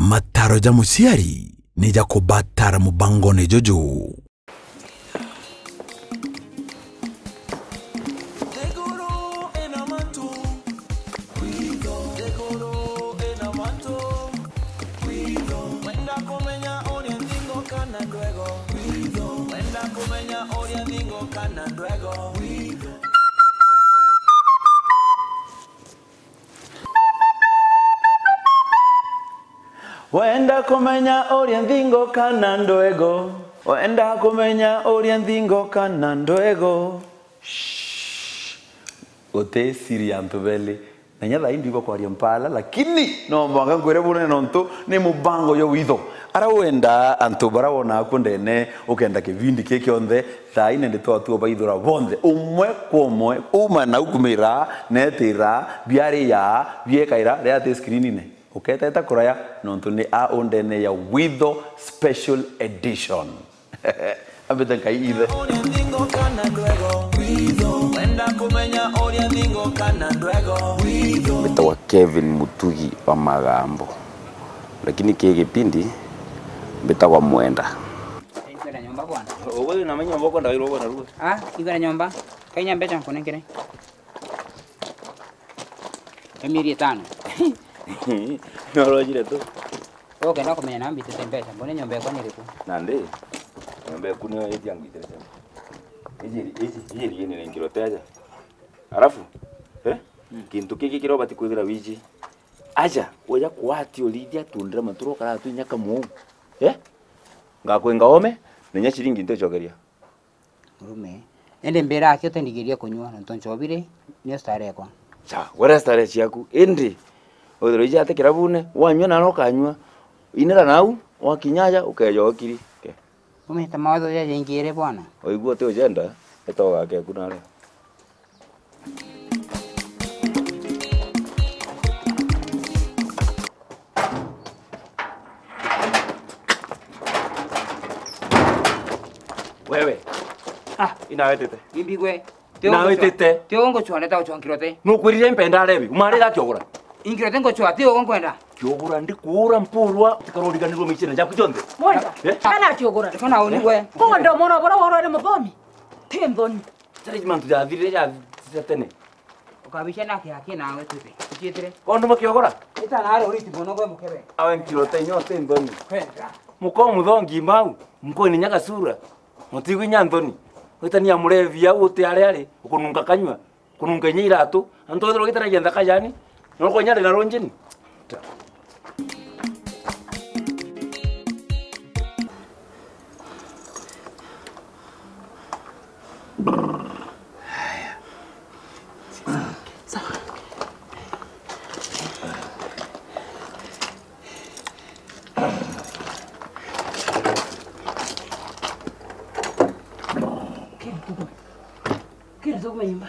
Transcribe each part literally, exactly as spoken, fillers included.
Mataro ja muciari ni ja kubatara mubangone juju. Wenda kumenya uria nthingo kana ndwego? Wenda kumenya uria nthingo kana ndwego? Shh. Uti siri ya antu beli. Na inya thaa ii ndwigua kwaria mpala, lakini no mwanka nkwire bunene nontu ni mubango jwa witho. Ara wenda antu bara wona aku ndene, ukenda kivindi ki kionthe, thaa ii nende twatua baithura bonthe, umwe kwa umwe, uma na ukumira, netira, biaria, biekaira, ria ati screenine. Uketeta kuraya nontu ni a undene ya Witho Special Edition. Ambite nkai ithe. Mbitagwa Kevin Mutugi wa Magambo, lakini ki gipindi mbitagwa Mwenda. Nkwenda nyomba bwana. Uwe na menya mbo kwenda wiro bwana ruwe. Ah, nkwenda nyomba. Kainya mbecha nkunenkere. Ka mieri itano. Norojire tu. Wewe ukenda kumenya na mbitite mbecha, mbone nyomba yakwa ni iriku? Nandi, nyomba yaku niyo iji angwitire sema. Iji, iji, iji riene ni nkirote aja. Alafu, eh? Mm. Kintu kiki kiria ubati kwithira wiji. Aja, uja kwati urithia tundira maturo kara twinya kamu. Eh? Ngakwenga ome, na inya ciringi nticokeria. Murume, indi mbira aki utindigirie kunyua, nontu nchobi ri, niyo starehe ekwa. Cha, wera starehe ciaku, indi withirwa iji ati kirabune, wanyua naro ukanyua, inira nau, wakinya aja, ukeja ukiri. Ke. Umite mawatho jaja jaingi iri bwana. Oigua uti ujenda, ita ugake eku nare. Wewe. Ah. Inawetete. Imbigwe. Inawetete. Tio nguchwa, neta uchwa nkirote. Nukwirire mpenda rebi. Umarira kiogora. Inkirote nguchwa, tio nkwenda. Kiogora ndikuura mpurwa, tikaroriganirwo michina jaku jonthe. Mwenda. Eh? Kana kiogora. Kana uni we. Kondo mwana bora woro ni muthomi. Ti nthoni. Jari mantu jathirire ja, ja tene. Ukabicia nake aki nawe tute. Ucietire. Kondu makiogora? Ita na ari uriti bono gwe mukebe. Awe nkirote nyote nthoni. Kwenda. Muko muthongi mbau, muko ni nyaga sura. Mutigwi nya nthoni. Witania murevi au uti ari ari, ukununga kanyua, kununga inya iratu. Antu ethirwa gitaragia nthaka jani, no konya ari na runjini. Kiri tukume nyumba.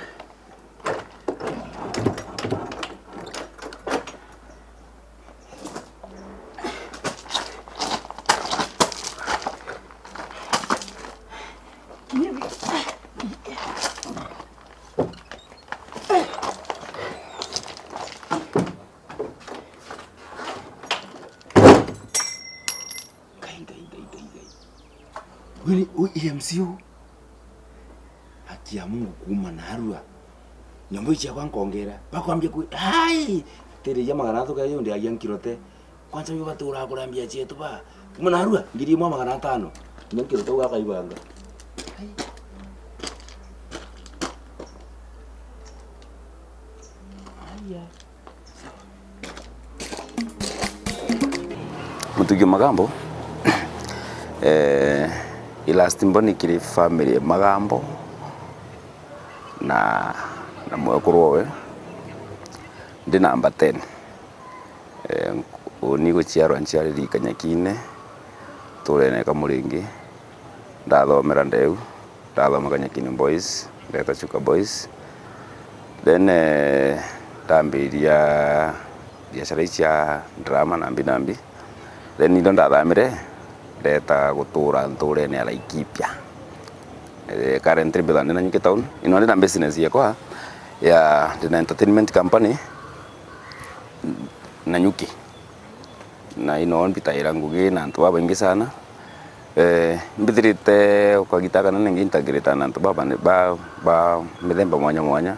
Ngai, Ngai, Ngai, Ngai, Ngai. Uyu ni, uyu E M C uyu. Haki ya Mungu kuuma narua. Nyomba ici yakwa nkongera. Bakwambia ku, ai! Tiri ya magana atatu kaya yundi agia nkirote. Kwanza uyu batura kurambia cietu ba. Kuuma narua, ngiri imwe magana atano. Nkirote ugakaibanga. Ai. Aya. Mutugi Magambo, eh, i last born kiri family ya Magambo na, na mwekuru owe. Ndi namba ten. Eh, uni guciarwa nciariri Kanyakine, turene ka Muringi. Ndathomera ndeu, ndathoma Kanyakini Boys, ndeta Chuka Boys. Then, eh, ndambiria biashara ici cia drama nambi nambi. Then indo ndathamire, ndeta gutura nturene ya Laikipia. Eh, currently mbitha ndi Nanyuki town. Ino ndi na business yakwa ya, ndi na entertainment company, Nanyuki. Na ino mbitaira ngugi na antu babaingi sana. Eh, mbithirite ukagita kana ningi integrate na antu baba, ba, ba mithemba mwanya mwanya,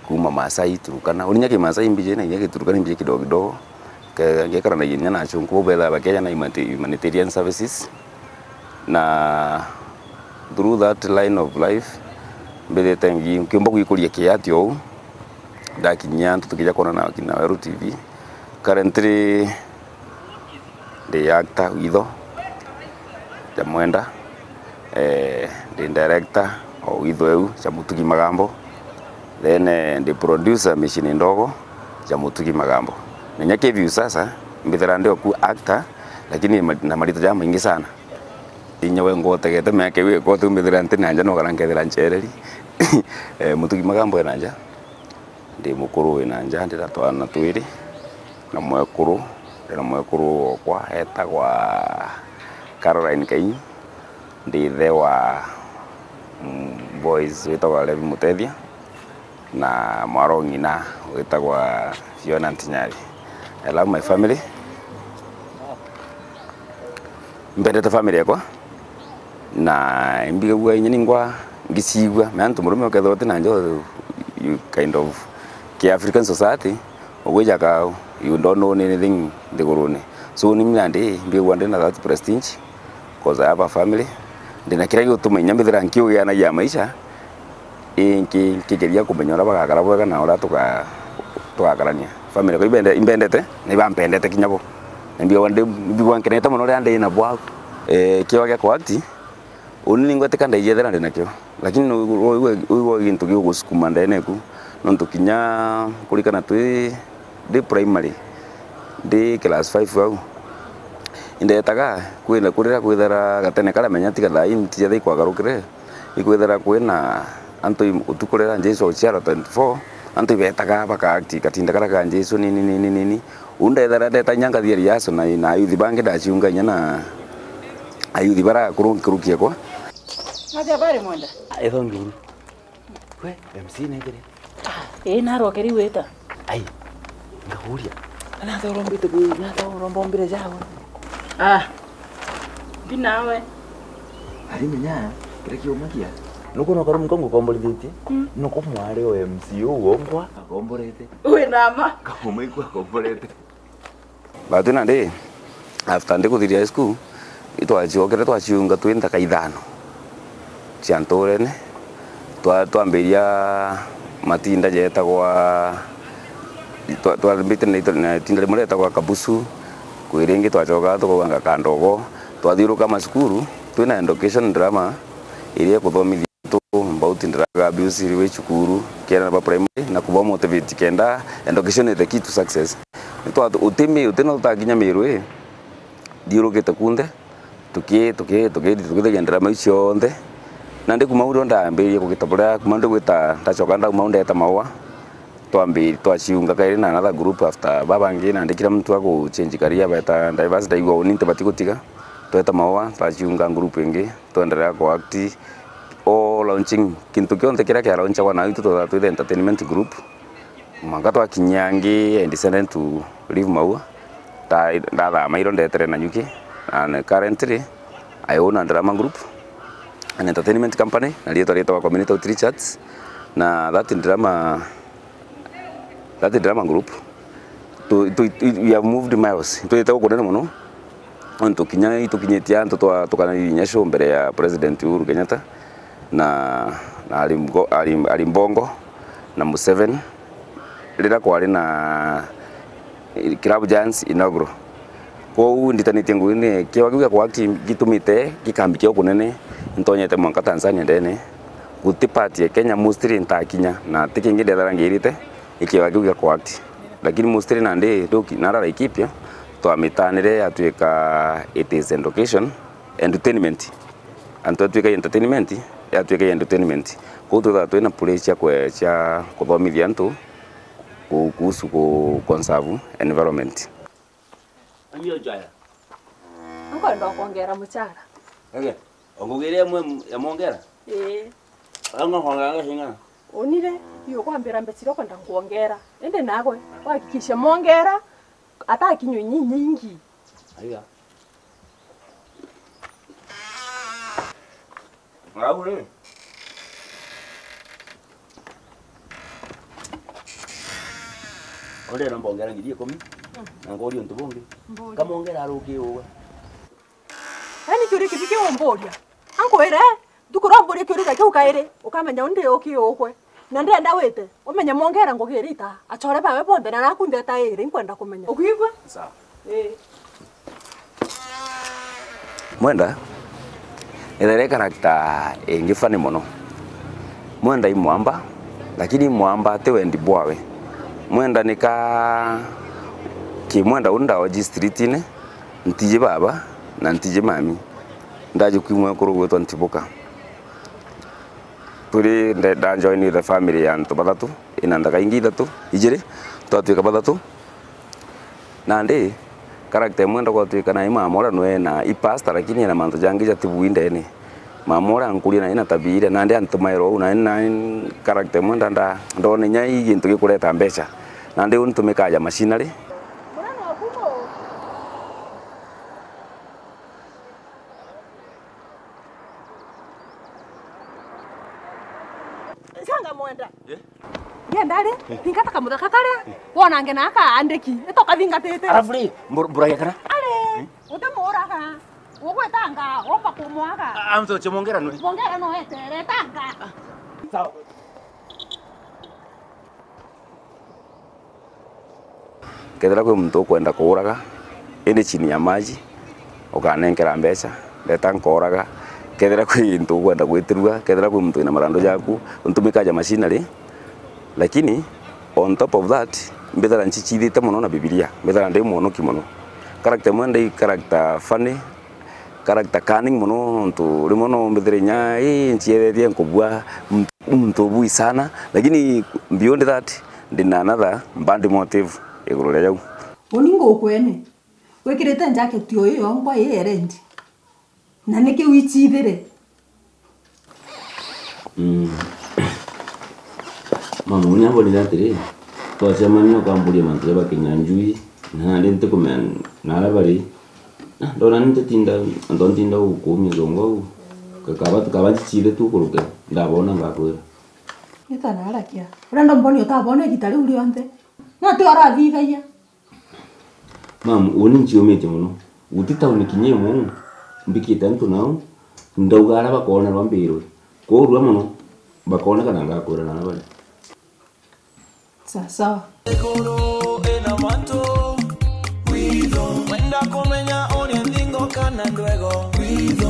kuma Maasai, Turkana. Uni inya Kimaasai imbiji na inya Giturkana imbiji kidogo kidogo. Ke-, ngekaranagia inya na achunku bau bethaa bakeja na humani-, humanitarian services. Na through that line of life, mbithite ngi-, nkiumba gwikuria kiati ou. Ndakinyia antu tukija kwonana na Weru T V. Currently, ndi actor witho ja Mwenda, eh, ndi director o witho eu ja Mutugi Magambo, then, eh, ndi producer micini ndogo ja Mutugi Magambo. Na inya K V U sasa, mbithira ndi oku actor, lakini ma-, na marito jamaingi sana. Inya we ngotegete miaka iu ikote mbithira nti na nja, nogara nkethira nchereri. Eh, Mutugi Magambo ena nja. Ndi mukuru wina nja, ndina twana twiri na mwekuru, ndina mwekuru wokwa etagwa Caroline Kainyi, ndi ithe wa, mm, boys witagwa Levi Mutethia na mwarwa ng'ina witagwa Fiona Ntinyari. I love my family. Mbendete family yakwa. Na imbigagua inya ningwa ngicigua, me antu murume ukethirwa uti na njo, you kind of ki African society, ugwija ka you don't own anything nthigurune. So ni mina ndi mbigagua ndi na that prestige, 'cause I have a family, ndi na kiria gigutuma inya mbithira nkiugianagia maisha, ingi nkigeria kumenya uria bagakara bwega na uria tuga-, tugakarania. Family yakwa imbende-, imbendete, na ibampendete kinya bo. Na mbigagua ndi, mbigagua nkenete mono riria ndi nabo au. Eh, kiwa gia kuact, uni ningwetika ndaijethera ndi nakio. Lakini no wigua, wigua gintu gigugusukuma ndene eku. Nontu kinya kurikana twi, ndi primary, ndi class five au, indetaga kwina kurira kwithira gatene karia menya tiga thaa ii ntijethira ikwagarukire. Ikwithira kwina antu i-, utuku riria Jesu uciarwa twenty four, antu ibetaga baka act katinda karia ka Jesu nini, nini, nini. Uu ndethira ndeta inya ngathia rehearsal na, na ayuthi bangi ndaciunga inya na ayuthi baria akuru nkuruki ekwa. Natia bari Mwenda? Etho nguru. We, M C netire? Ii, narokeri wita. Ai, ngakuria. Natha urombite ku, natha uromba umbire jawe. Ah, mbi nawe. Ari menya, kiria kiumagia. Nuko no karumu kangu komborithitie. Mm. Nuko mwari o M C u wongwa akomborete. Wi nama. Kauma iku akomborete. But nandi, after ndi kuthiria high school, itwacokere twaciunga twi nthaka ithano cia nturene. Twa-, twambiria matinda jetagwa, twa-, twambite na ito-, na itinda rimwe rietagwa Kabusu, kwi ringi twacokaga tukauganga Kandogo. Twathiuruka macukuru, twina education drama iria ikuthomithia antu about drug abuse iri wi cukuru, kiana ba primary, na kuba motivate kenda education is the key to success. Nitwa-, uti mi-, uti no utakinya Miru ii, thiurukite kunthe, tuki-, tuki-, tuki-, tukithagia ndarama iu cionthe. Nandi kuma au ndio ndambiririe kugita buria, kuma ndigwita, ndacoka ndauma au ndeta Maua, twambi-, twaciunga kairi na another group after babangi, nandi kila mtu agu change career, beta diverse, ndaigua uni ntibati gutiga, tweta Maua, twaciunga group ingi, twenderea ku act, o launching, kintu kionthe kiria kia launchagwa na itu twethaga twi the entertainment group. Mwanka twakinyia angi, I decided to leave Maua. Ta-, ndathama iro ndetere Nanyuki, and currently I own a drama group, an entertainment company, na rietwa rietagwa Community Outreach Arts, na that drama, that drama group, tu, tu, tu, we have moved miles. Twite gukunene mono, nontu kinya itukinyitie antu twa-, tukanairie inya show mbere ya President Uhuru Kenyatta na, na Alimgo-, Alim-, Alimbongo na Museveni, riria kwari na Club Giants inaugural. Kwou nditanitie ngugi ni kiwa kiu gia kuact gitumite gikambikia ukunene, ntonyete mwanka Tanzania ndene. Guti part ya Kenya mostly ntakinya, na ti kingi ndethera ngirite, ikiwa kiu gia kuact. Lakini mostly nandi nduki-, nara Laikipia, twamitanire yatwika it is education, entertainment. Antu atwika entertainment, yatwika entertainment. Kwou twithaga twina play cia kwe-, cia kuthomithia antu ku-, kuhusu ku conserve environment. Amio jaya. Nkwenda kwongera mucara. Ege, ongugire mwe ya mongera? Ii. Anga kwongera ngashinga? Unire, iyo kwambira mbecire kwenda nkwongera. Indi nagwe, wahakikishe mongera, atakinywe nyi-, nyingi. Aiga. Ngau ri. Onde no mbongera ngiri ikumi. Mm. Na ngori untu bungi. Mburi. Kamongera aruki uwe. Yaani kiuria kibi kiu umburia? Ankwire, ntuku ria umburia kiuria kiu kairi, ukamenya undi uki ukwe. Na ndenda wite, umenye mwongera ngugi irita, achore bawe bonthe na naku ntheta iri, nkwenda kumenya. Ukwigua? Sawa. Ii. Mwenda, ithere character ingi funny mono. Mwenda i mwamba, lakini i mwamba ti wendi bwawe. Mwenda ni ka ki mwenda uu ndaoji streetine, ntiji baba na ntiji mami. Ndaji kwi mwekuru gwitwa Ntibuka. Turi nde-, nda join the family ya antu bathatu, ina nthaka ingi ithatu, ijiri, twatwika bathatu. Nandi, character imwe nda gwatwika na i mama uria nwe na i pastor, lakini ena mantu jangi jatibui ndene. Mama uria ankuria na ina tabia iria, nandi antumaira uu, na ina character imwe nda, nda, ndona inya i gintu gikureta mbeca. Nandi uu ntumikaga ja machinery. Canga mwenda. Eh? Ngenda ri, thingata kamuthaka karia, wonange na aka andiki, ito kathingatite. Alafu ri, mbur-, mburagia kana? Ari, uti muraga, ugwetanga, womba kumwaga. A-, amtoche mongera nwe. Mongera no etere, tanga. Sawa. Kethira kwi muntu ukwenda kuuraga, indi chini ya maji, ukanenkera mbeca, ndeta nkooraga. Kethira kwi muntu ukwenda gwitirua, kethira kwi muntu wina marandu jaku, untumikaga ja machinery. Lakini on top of that, mbithira nchichithite mono na Bibilia, mbithira ndi mwonoki mono. Character imwe ndi character funny, character cunning mono, nontu rimwe no mbithire inya, ii, nciethetie nkubua muntu, muntu ubui sana, lakini beyond that, ndina another bad motive iguru ria jau. Uni ngukwene, wikirite jacket o iyo yongwa i ya red, na niki wichithire? Mm. Mama, uni ambonire atiri, twacemania ukamburia mantu ja bakinya njui, na nandi ntikumenya naria bari. Ah, ndona ni ntitinda, antu ntinda gukumia zongo au. Kakaba, kakaba nchichithe tu kuruke, ndabona ngakwira. Nita narakia. Urenda mboni utabona igita riu rionthe? No ti urathithagia? Mam, uni nciumitie mono. Guti tauni kinya imwe mbikite antu nau, ndauga aria bakoonerwa mbirwe. Kwoou rua mono, bakooneka na ngakwira naria bari. Sawa sawa. Iguru ina mantu, witho. Wenda kumenya uria nthingo kana ndwego, witho.